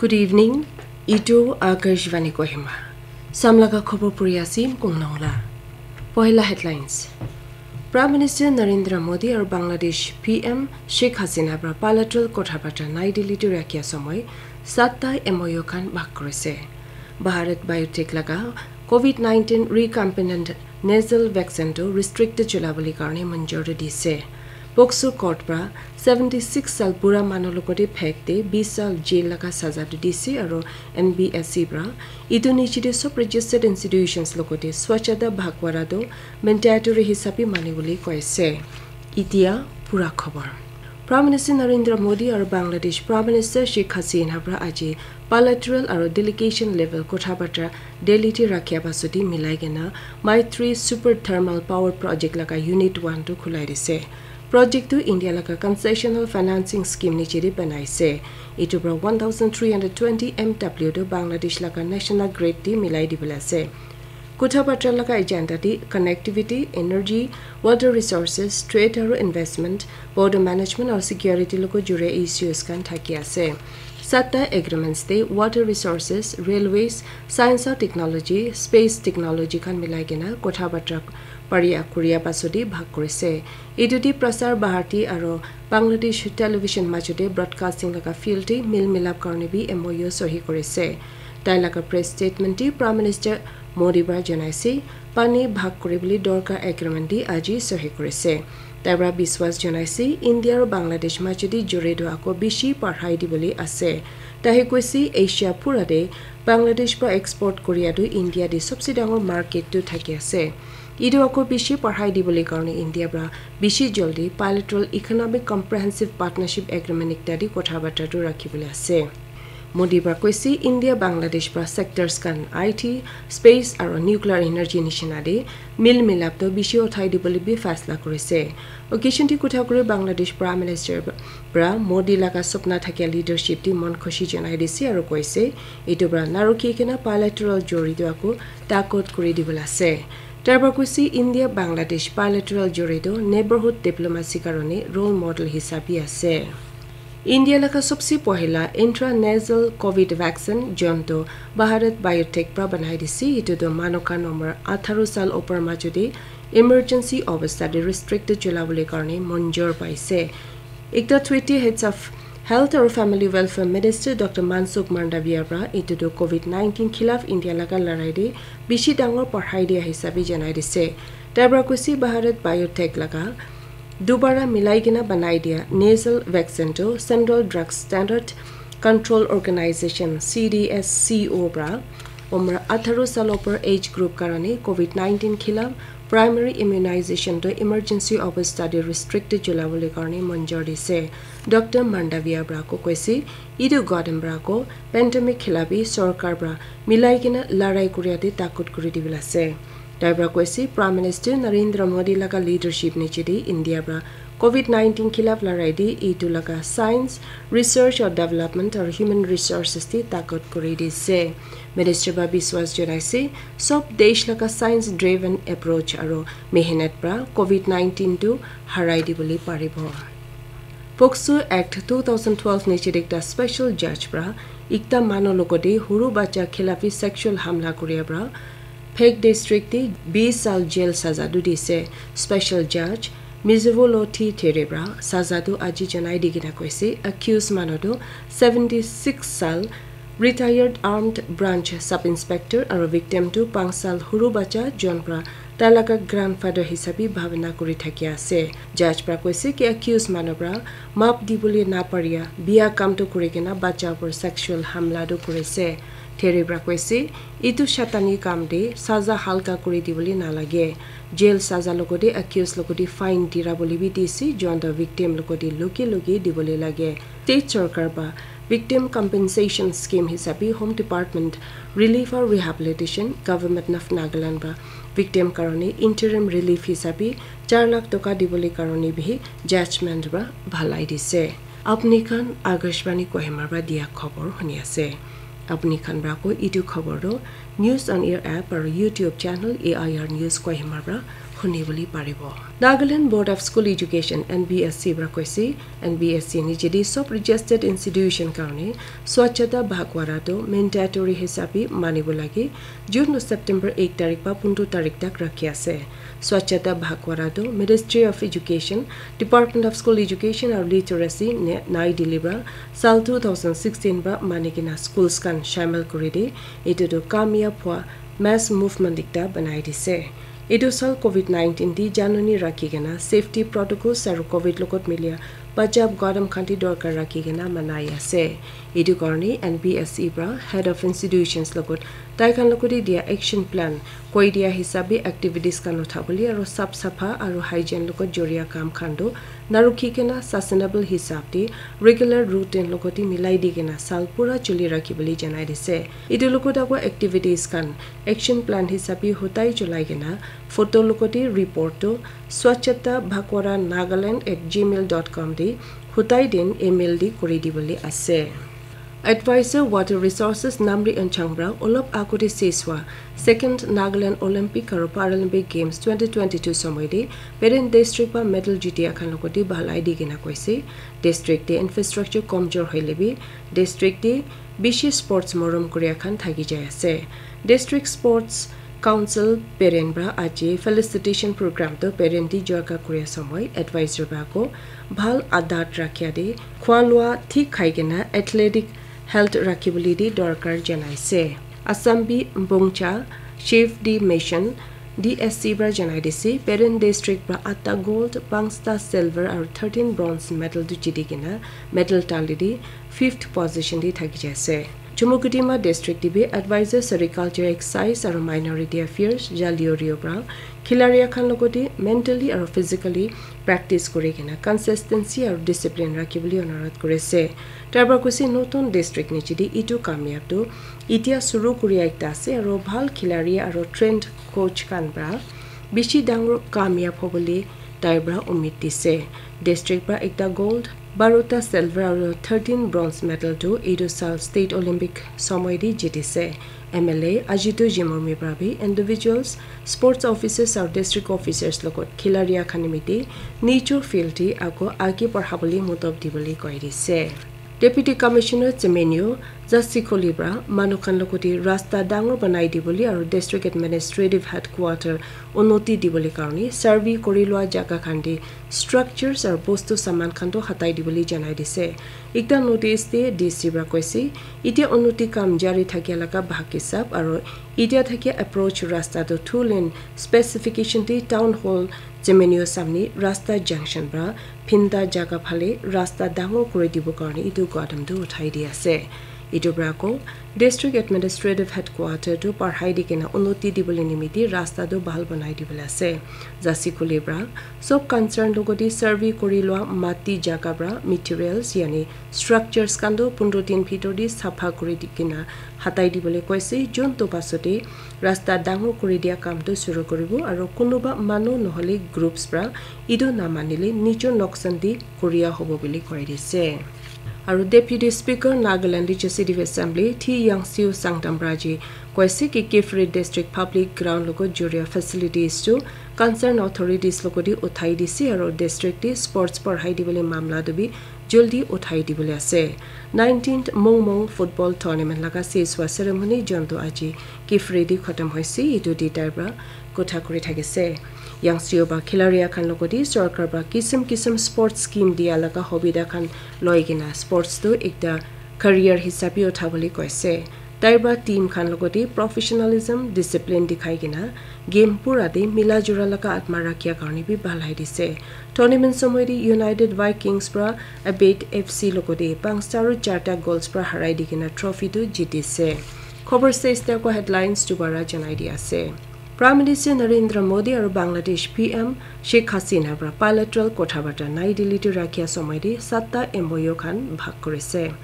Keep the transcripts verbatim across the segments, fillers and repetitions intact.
Good evening. Itu Akashvani Kohima. Samlaga khobor puri asim kungnongla. Pohila headlines. Prime Minister Narendra Modi aru Bangladesh P M Sheikh Hasina pra bilateral kotha batra Nai Delhi tu rakhia samoi satta M O U khan bhag korise. Bharat Biotech laga COVID nineteen recombinant nasal vaccine tu restricted chola bole karne manjuri dise. POCSO court pra seventy six sal bura manu logote phek te bis sal jail laga saza tu dise aru N B S C pra itu niche te sob registered institutions logote Swachhata Pakhwada tu mandatory hisabe mani bole koise. Itia pura khobor. Prime Minister Narendra Modi aru Bangladesh Prime Minister Sheikh Hasina pra aji bilateral aru delegation level kotha batra Delhi te rakhia pasodi milai kena Maitri Super Thermal Power Project laga Unit one tu khulai dise. Project tu India laga concessional financing scheme niche te banaise. Itu pra one thousand three hundred twenty M W tu Bangladesh laga national grid te milai dibole ase. Kotha batra laga agenda te connectivity, energy, water resources, trade aru investment, border management aru security logo jure issues khan thaki ase. Satta agreements te water resources, railways, science aru technology, space technology khan milai kena kotha batra paria kuria pasodi bhag korise. Itu te Prasar Bharati aru Bangladesh Television majote broadcasting laga field te mil milap karne bi M O U sohi korise. Tai laga press statement te Prime Minister Modi pra janaise, pani bhag kuribole dorkar agreement te aji sohi korise. Tai pra biswas janaise, India aru Bangladesh majote jure tu ako bishi parhai dibole ase. Tahe koise, Asia pura te Bangladesh pra export koria tu India te sobse dangor market tu thaki ase. Itu ako bishi parhai dibole karne India pra bishi jaldi bilateral economic comprehensive partnership agreement ekta te kotha batra tu rakhibole ase. Modi pra koise India Bangladesh pra sectors khan I T, space aru nuclear energy nishina te mil milap to bishi uthai dibole bi faisla korise. Occasion te kotha kuri Bangladesh Prime Minister pra Modi laga sapna thakia leadership te mon khushi janai dise aru koise, itu pra narukhi kena bilateral juri tu ako takot kuri dibole ase. Tai pra koise India Bangladesh bilateral juri tu neighborhood diplomacy karone role model hisabe ase. India laga sobse pohila intranasal COVID vaccine jonto Bharat Biotech pra banai dise, itu tu manu khan umar atharo sal upor majote emergency obostha te restricted chola bole karne manjur paise. Ekta tweet te Health aru Family Welfare Minister Doctor Mansukh Mandaviya pra itu tu COVID nineteen khilaf India laga larai te bishi dangor parhai dia hisabe janai dise. Tai pra koise Bharat Biotech laga dubara milai kena banai dia nasal vaccine tu Central Drug Standard Control Organization, C D S C O pra umar atharo sal upor age group karone COVID nineteen khilaf primary immunization tu emergency obostha te restricted chola bole karne manjur dise. Doctor Mandaviya pra ko koise, itu gadam pra ko pandemic khilaf bi sorkar pra milai kena larai kuria te takot kuri dibole ase. Tai pra koise, Prime Minister Narendra Modi laga leadership niche te India pra COVID nineteen khilaf larai te itu laga science, research or development aru human resources te takot kuri dise. Minister pra biswas janaise, sob desh laga science driven approach aru mehnat pra COVID nineteen tu harai dibole paribo. POCSO Act two thousand twelve niche te ekta special judge pra ekta manu logote huru bacha khilafi sexual hamla kuria pra Phek district te bis sal jail saza tu dise. Special judge Mizivolo T Theribra saza tu aji janai di kena koise, accused manu tu seventy six sal, retired armed branch sub inspector, aru victim tu panch sal huru bacha jon pra tai laga grandfather hisabi bhabna kuri thaki ase. Judge pra koise ki accused manu pra map dibole naparia bia kam tu kuri kena bacha upor sexual hamla tu kurise. Theribra koise, etu shatani kam te saza halka kuri dibole nalage. Jail saza logote accused logote fine dira bole bi dise, juan toh victim logote loge loge dibole lage. State sorkar pa Victim Compensation Scheme hisabe Home Department Relief aru Rehabilitation, Government of Nagaland pa victim karone interim relief hisabe char lakh toka dibole karone bihi judgment pra bhalai dise. Apni khan Akashvani Kohima pra dia khobor huni ase. Apni khan pra ko etu khobor toh News on Air app aru YouTube channel A I R News Kohima pra khuni bole paribo. Nagaland Board of School Education, N B S E, para koise, N B S E nijedi sob registered institution karone Swachhata Pakhwada tu mandatory hisabe manibo lage, June to September ek tarik pa pondro tarik tak rakhi ase. Swachhata Pakhwada tu Ministry of Education, Department of School Education aru Literacy, Nai Delhi para sal two thousand sixteen para mani kena schools khan shamil kuri di, etu tu kamyab hua mass movement ekta banai dise. Etu sal covid nineteen di janani rakhi kena safety protocols aru covid logot milia bachab gadam khan di dorkar rakhi kena manai ase. Etu karone N B S E para head of institutions logot tai khan logot dia action plan koi dia hisabe activities khan uthabole aru sap sapha aru hygiene logot joria kam khan tu narukhi kena sustainable hisab te regular routine logot te milai di kena sal pura chuli rakhi bole janai dise. Etu logot ago activities khan action plan hisabe hutai cholai kena photo logot te report tu Swachhata Pakhwada Nagaland at gmail dot com te hutai din email di kuri di bole ase. Advisor Water Resources Namri Anchang para olop agote ses hua second Nagaland Olympic aru Paralympic Games twenty twenty-two somoi te parent district pa medal jitia khan logot te bhalai di kena koise, district te infrastructure komjor hoile bi district te bishi sports morom kuria khan thaki jai ase. District Sports Council parent para aji felicitation program tu parent di joga kuria somoi advisor para ko bhal adat rakhia de khua lua thik khai kena athletic health rakhi bole di dorkar janai ase. Assam bi Bongcha Chief di Mission D S C para janai dise, parent district para atta gold, pangsta silver aru thirteen bronze medal tu jiti kena medal tali di fifth position di thaki jai ase. Chumukedima district te bi advisor sericulture excise aru minority affairs Jalio Rio para khilaria khan logot te mentally aru physically practice kuri kena consistency aru discipline rakhi bole onurodh kuri ase. Tai para koise notun district niche te etu kamyab tu etia suru kuria ekta ase aru bhal khilari aru trained coach khan para bishi dangor kamyab hobole tai para umid dise. District para ekta gold, barota silver aru thirteen bronze medal tu etu sal State Olympic somoi te jitise. M L A Ajitu Jimomi para bi individuals, sports officers aru district officers logot khilaria khan nimite nijor field te ako age barhabole motob dibole koi dise. Deputy Commissioner Tsemenyo Zasikoli para manu khan logot te rasta dangor banai dibole aru district administrative headquarter unnoti dibole karone survey kuri lua jaga khan te structures aru bostu saman khan tu hatai dibole janai dise. Ekta notice te D C para koise, etia unnoti kam jari thakia laga bhag hisab aru etia thakia approach rasta tu two lane specification te town hall Tsemenyo samne rasta junction para phinda jaga phale rasta dangor kuri dibo karone etu gadam tu uthai di ase. Etu para ko district administrative headquarter tu parhai di kena unnoti dibole nimite rasta tu bhal banai dibole ase. Zasikoli para sob concern logot te survey kuri lua mati jaga para materials yani structures khan tu pondro din bhitor te sapha kuri di kena hatai dibole koise. Jun tu pasote rasta dangor kuri dia kam tu suru kuribo aru kunuba manu nohole groups para etu namanile nijor noksan te kuria hobo bole koi dise. Aru Deputy Speaker Nagaland Legislative Assembly Thi Yangsio Sangtam para ji koise ki Kiphire District Public Ground logot joria facilities tu concern authorities logot te uthai dise aru district te sports parhai dibole mamla tu bi jaldi uthai dibole ase. Nineteenth Mongmong Football Tournament laga ses hua ceremony jontu aji Kiphire te khatam hoise, etu te tai para kotha kuri thakise. Yangsio para khilaria khan logot te sorkar para kisim kisim sports scheme dia laga hobida khan loi kena sports tu ekta career hisabe uthabole koise. Tai para team khan logot te professionalism, discipline dikhai kena game pura te mila jura laga atma rakhia karone bi bhalai dise. Tournament somoi te United Vikings para Abate F C logot te pangsta aru charta goals para harai di kena trophy tu jitise. Khobor stage te ako headlines dubara janai di ase. Prime Minister Narendra Modi aru Bangladesh P M Sheikh Hasina para bilateral kotha barta Nai Delhi te rakhia somoi te satta M O U khan bhag kurise.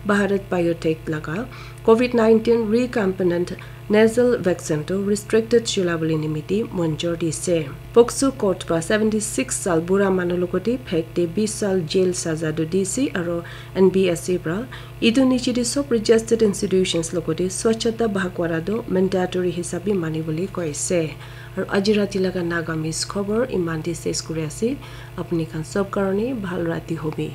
Bharat Biotech laga COVID nineteen recombinant nasal vaccine to restricted chula bole nimiti monjor dise. Pokso court pa seventy-six sal bura manu logote phek te twenty sal jail saza do dise aro N B S A pra itu niche de sob registered institutions logote swachhata bhag wara do mandatory hisabe mani bole koise. Aro aji rati laga Nagamese khobor iman de ses kuri ase. Apni khan sob karone bhal rati hobi.